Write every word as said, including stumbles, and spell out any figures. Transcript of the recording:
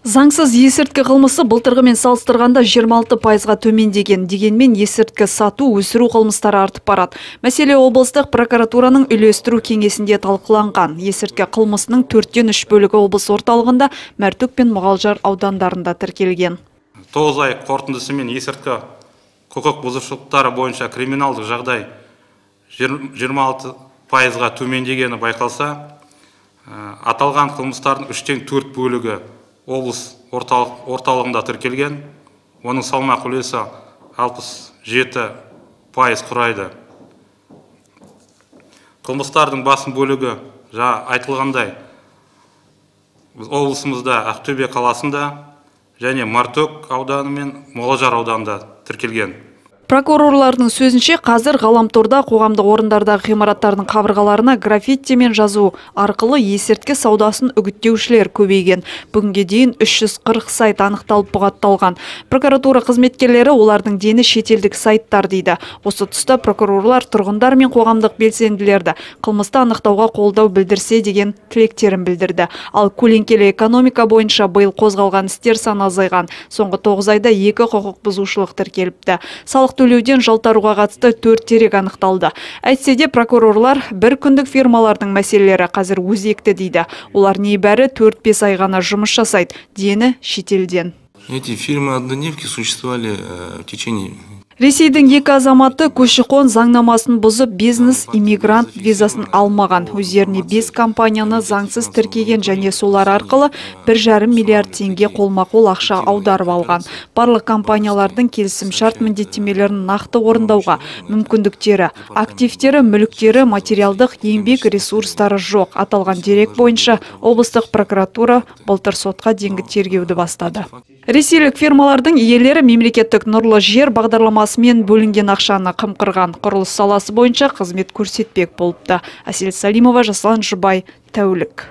Заңсыз есірткі қылмысы былтырғымен салыстырғанда жиырма алты пайызға төмендеген. Дегенмен есірткі сату, өсіру қылмыстары артып барады. Мәселе облыстық прокуратураның үйлестіру кеңесінде талқыланған. Есірткі қылмысының төрттен үш бөлігі облыс орталығында, Мәртөк пен Мұғалжар аудандарында тіркелген. тоғыз ай қорытындысымен есірткі құқық бұзушылықтары бойынша криминалдық жағдай жиырма алты пайызға төмендегені байқалса, аталған қылмыстардың үштен төрт бөлігі облыс орталық, орталығында тіркелген, оның салмақ үлесі алпыс жеті пайыз құрайды. Қылмыстардың басым бөлігі жаңа айтылғандай облысымызда Ақтөбе қаласында және Мәртөк ауданы мен Мұғалжар ауданында тіркелген. Прокурорлардың сөзінше, қазір ғаламторда қоғамдық орындардағы ғимараттардың қабырғаларына граффитимен жазу арқылы есірткі саудасын үгіттеушілер көбейген. Бүгінге дейін үш жүз қырық сайт анықталып бұғатталған. Прокуратура қызметкерлері олардың дені шетелдік сайттар дейді. Осы тұста прокурорлар тұрғындар мен қоғамдық белсенділерді қылмысты анықтауға қолдау білдірсе деген тілектерін білдірді. Ал көлеңкелі экономика бойынша биыл қозғалған істер саны азайған. Соңғы тоғыз айда екі құқық бұзушылық тіркеліпті. Салық төлеуден жалтаруға қатысты төрт дерек анықталды. Әйтсе де прокурорлар бір күндік фирмалардың мәселелері қазір өзекті дейді. Олар небәрі төрт бес ай ғана жұмыс жасайды, дені шетелден. Эти фирмы-однодневки существовали в течение... Ресейдің екі азаматы көші-қон заңнамасын бұзып бизнес иммигрант визасын алмаған. Өздеріне бес компанияны заңсыз тіркеген және солар арқылы бір жарым миллиард теңге қолма-қол ақша аударып алған. Барлық компаниялардың келісім-шарт міндеттемелерін нақты орындауға мүмкіндіктері, активтері, мүліктері, материалдық еңбек ресурстары жоқ. Аталған дерек бойынша облыстық прокуратура былтыр сотқа дейінгі тергеуді бастады. Ресейлік фирмалардың иелері мемлекеттік нұрлы жер бағдарламасымен бөлінген ақшаны қымқырған. Құрылыс саласы бойынша қызмет көрсетпек болыпты. Әсел Салимова, Жасұлан Жұбай, Тәулік.